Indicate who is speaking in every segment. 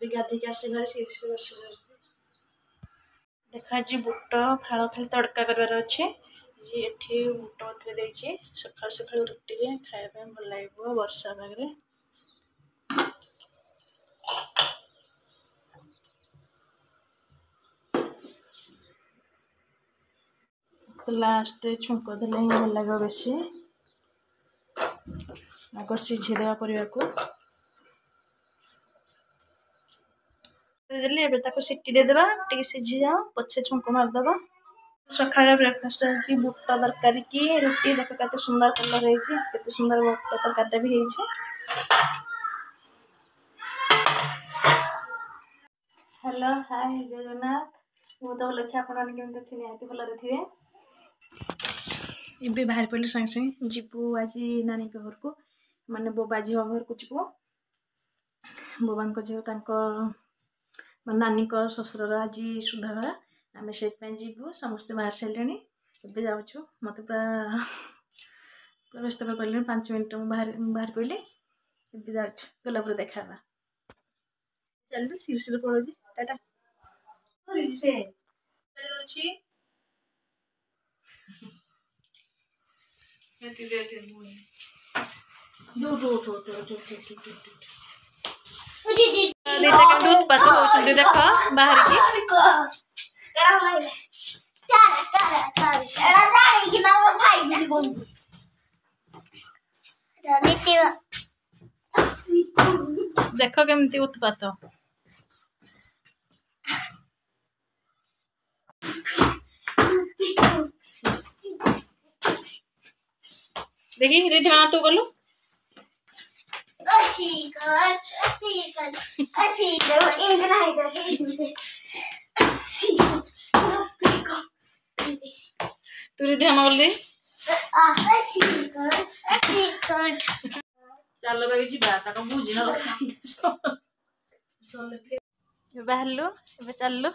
Speaker 1: ଏବେ ଗାଧେଇକି ଆସି ଭାରି ସିରିସି ବର୍ଷା ଯାଉଛି। ଦେଖ, ଆଜି ବୁଟ ଫାଳ ଖାଲି ତଡ଼କା କରିବାର ଅଛି। ଏଠି ବୁଟ ବତୁରେଇ ଦେଇଛି। ସକାଳୁ ସକାଳୁ ରୁଟିରେ ଖାଇବା ପାଇଁ ଭଲ ଲାଗିବ ବର୍ଷା ପାଗରେ। ଲାଷ୍ଟରେ ଛୁଙ୍କ ଦେଲେ ହିଁ ଭଲ ଲାଗିବ ବେଶୀ। ଆଗ ସିଝେଇଦେବା ପରିବାକୁ ଦେଲି, ଏବେ ତାକୁ ସିଟି ଦେଇଦେବା, ଟିକେ ସିଝିଯାଉ, ପଛେ ଛୁଙ୍କ ମାରିଦେବା। ସକାଳେ ବ୍ରେକଫାଷ୍ଟ ହେଇଛି ବୁଟ ତରକାରୀ କି ରୁଟି। ଦେଖ କେତେ ସୁନ୍ଦର କଲର୍ ହେଇଛି, କେତେ ସୁନ୍ଦର ବୁଟ ତରକାରୀଟା ବି ହେଇଛି। ହ୍ୟାଲୋ, ହାଏ, ଜୟ ଜଗନ୍ନାଥ। ମୁଁ ତ ଭଲ ଅଛି, ଆପଣମାନେ କେମିତି ଅଛି? ନିହାତି ଭଲରେ ଥିବେ। ଏବେ ବାହାରି ପଡ଼ିଲୁ ସାଙ୍ଗେ ସାଙ୍ଗେ, ଯିବୁ ଆଜି ନାନୀଙ୍କ ଘରକୁ, ମାନେ ବୋବା ଝିଅ ଘରକୁ ଯିବୁ। ବୋବାଙ୍କ ଝିଅ, ତାଙ୍କ ନାନୀଙ୍କ ଶ୍ୱଶୁରର ଆଜି ସୁଧଘର, ଆମେ ସେଇଥିପାଇଁ ଯିବୁ। ସମସ୍ତେ ବାହାରି ସାରିଲେଣି, ଏବେ ଯାଉଛୁ। ମୋତେ ପୁରା ପୁରା ବ୍ୟସ୍ତ କରିପାରିଲିନି, 5 ମିନିଟ୍ ମୁଁ ବାହାରି ପଡ଼ିଲି। ଏବେ ଯାଉଛୁ, ଗଲା ପରେ ଦେଖା ହେବା। ଚାଲିଲୁ, ଶିରି ଶିରି ପଳଉଛି। ଟାଟା। ସେ ଅଛି। ଦିଟା କେମିତି ଉତ୍ପାତ ହଉଛନ୍ତି ଦେଖ ବାହାରିକି। ଦେଖ କେମିତି ଉତ୍ପାତ। ଦେଖି ରିଧିମା, ତୁ ଗଲୁ। ତୁ ରିଧିମା ଗଲି। ଚାଲ ବାକି ଯିବା, ତାକୁ ବୁଝି ନ ବାହାରିଲୁ, ଏବେ ଚାଲିଲୁ।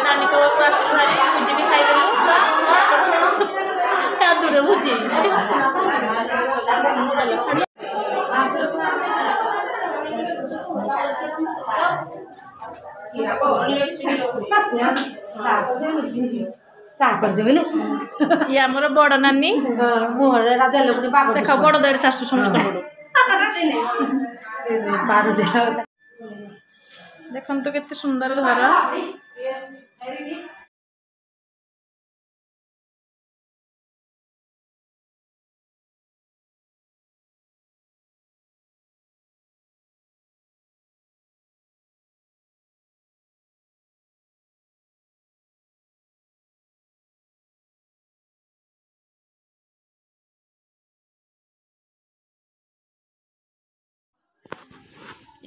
Speaker 1: ନାନୀଙ୍କ ଘରକୁ ଆସିଲୁ ଭାରି, ଭୋଜି ବି ଖାଇଦେଲୁ। କାଦୁରେ ଭୋଜି। ଇଏ ଆମର ବଡ ନାନୀ ଦେଖ, ବଡ ଦେଢ ଶାଶୁ ସମସ୍ତଙ୍କଠୁ। ଦେଖନ୍ତୁ କେତେ ସୁନ୍ଦର ଘର।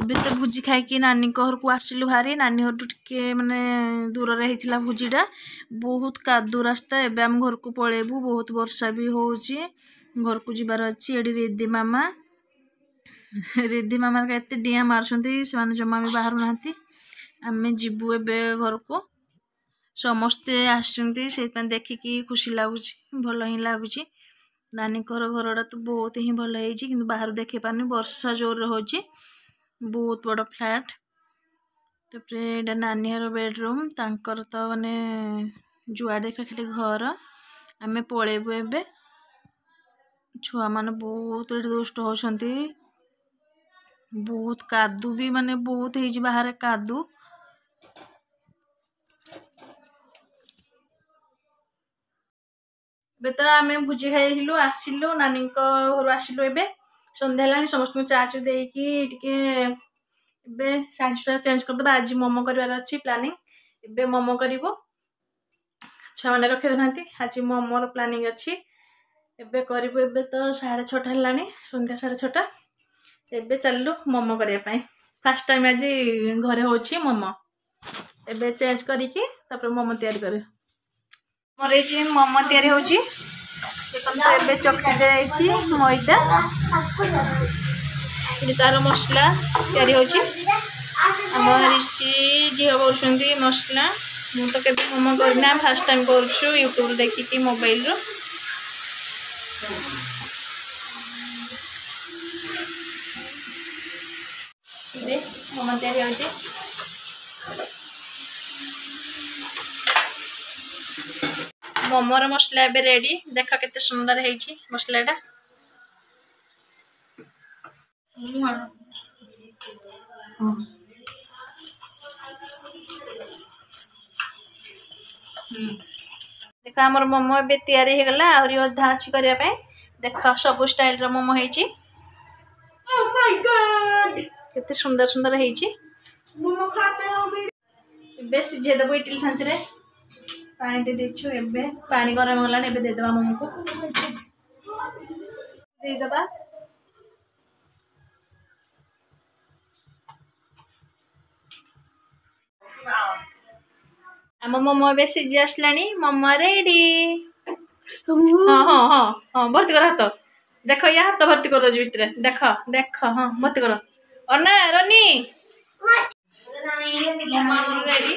Speaker 1: ଏବେ ତ ଭୋଜି ଖାଇକି ନାନୀଙ୍କ ଘରକୁ ଆସିଲୁ ଭାରି। ନାନୀ ଘରଠୁ ଟିକେ ମାନେ ଦୂରରେ ହେଇଥିଲା ଭୋଜିଟା, ବହୁତ କାଦୁଅ ରାସ୍ତା। ଏବେ ଆମ ଘରକୁ ପଳେଇବୁ, ବହୁତ ବର୍ଷା ବି ହେଉଛି, ଘରକୁ ଯିବାର ଅଛି। ଏଠି ରିଦ୍ଧି ମାମା, ରିଦ୍ଧି ମାମା ଏତେ ଡିଆଁ ମାରୁଛନ୍ତି, ସେମାନେ ଜମା ବି ବାହାରୁନାହାନ୍ତି। ଆମେ ଯିବୁ ଏବେ ଘରକୁ। ସମସ୍ତେ ଆସିଛନ୍ତି, ସେଇଥିପାଇଁ ଦେଖିକି ଖୁସି ଲାଗୁଛି, ଭଲ ହିଁ ଲାଗୁଛି। ନାନୀଙ୍କର ଘରଟା ତ ବହୁତ ହିଁ ଭଲ ହେଇଛି, କିନ୍ତୁ ବାହାରୁ ଦେଖେଇ ପାରୁନି, ବର୍ଷା ଜୋରରେ ହେଉଛି। ବହୁତ ବଡ଼ ଫ୍ଲାଟ୍। ତାପରେ ଏଇଟା ନାନୀ ଘର ବେଡ଼ରୁମ୍, ତାଙ୍କର ତ ମାନେ ଯୁଆଡ଼େ ଦେଖିବା ଖାଲି ଘର। ଆମେ ପଳେଇବୁ ଏବେ। ଛୁଆମାନେ ବହୁତ ଏଠି ଦୁଷ୍ଟ ହେଉଛନ୍ତି, ବହୁତ କାଦୁ ବି ମାନେ ବହୁତ ହେଇଛି ବାହାରେ କାଦୁ। ଏବେ ତ ଆମେ ଭୋଜି ଖାଇଥିଲୁ, ଆସିଲୁ ନାନୀଙ୍କ ଘରୁ ଆସିଲୁ। ଏବେ ସନ୍ଧ୍ୟା ହେଲାଣି, ସମସ୍ତଙ୍କୁ ଚା ଚୁ ଦେଇକି ଟିକେ ଏବେ ଶାଢ଼ୀ ସୁଟା ଚେଞ୍ଜ କରିଦେବା। ଆଜି ମୋମୋ କରିବାର ଅଛି ପ୍ଲାନିଂ, ଏବେ ମୋମୋ କରିବୁ। ଛୁଆମାନେ ରଖି ଦେଉନାହାନ୍ତି। ଆଜି ମୋମୋର ପ୍ଲାନିଂ ଅଛି, ଏବେ କରିବୁ। ଏବେ ତ 6:30 ହେଲାଣି, ସନ୍ଧ୍ୟା 6:30। ଏବେ ଚାଲିଲୁ ମୋମୋ କରିବା ପାଇଁ। ଫାର୍ଷ୍ଟ ଟାଇମ୍ ଆଜି ଘରେ ହେଉଛି ମୋମୋ। ଏବେ ଚେଞ୍ଜ କରିକି ତାପରେ ମୋମୋ ତିଆରି କରିବୁ। ମୋର ଏଇଠି ମୋମୋ ତିଆରି ହେଉଛି। ଦେଖନ୍ତୁ, ଏବେ ଚକଟି ଦିଆଯାଇଛି ମଇଦା, ଏଠି ତାର ମସଲା ତିଆରି ହେଉଛି। ଆମ ରିଷି ଝିଅ କରୁଛନ୍ତି ମସଲା। ମୁଁ ତ କେବେ ମୋମୋ କରିନା, ଫାର୍ଷ୍ଟ ଟାଇମ୍ କରୁଛୁ ୟୁଟ୍ୟୁବରୁ ଦେଖିକି, ମୋବାଇଲରୁ। ମୋମୋ ତିଆରି ହେଉଛି। ମୋମୋର ମସଲା ଏବେ ରେଡ଼ି। ଦେଖ କେତେ ସୁନ୍ଦର ହେଇଛି ମସଲାଟା। ଦେଖ, ଆମର ମୋମୋ ଏବେ ତିଆରି ହେଇଗଲା। ଆହୁରି ଅଧା ଅଛି କରିବା ପାଇଁ। ଦେଖ, ସବୁ ଷ୍ଟାଇଲର ମୋମୋ ହେଇଛି, କେତେ ସୁନ୍ଦର ସୁନ୍ଦର ହେଇଛି। ଏବେ ସିଝେଇ ଦେବୁ ଇଟିଲି ଛାଞ୍ଚରେ। ପାଣି ଦେଇ ଦେଇଛୁ, ଏବେ ପାଣି ଗରମ ହେଲାଣି। ଏବେ ଦେଇଦେବା ମୋମୋକୁ, ଦେଇଦେବା। ଆମ ମୋମୋ ଏବେ ସିଝି ଆସିଲାଣି। ମୋମୋ ରେଡି। ହଁ ହଁ ହଁ ହଁ, ଭର୍ତ୍ତି କର ହାତ। ଦେଖ, ୟା ହାତ ଭର୍ତ୍ତି କରିଦଉଛି ଭିତରେ। ଦେଖ ଦେଖ, ହଁ, ଭର୍ତ୍ତି କର। ଅନା ରନି, ମୋମୋ ଆମର ରେଡି।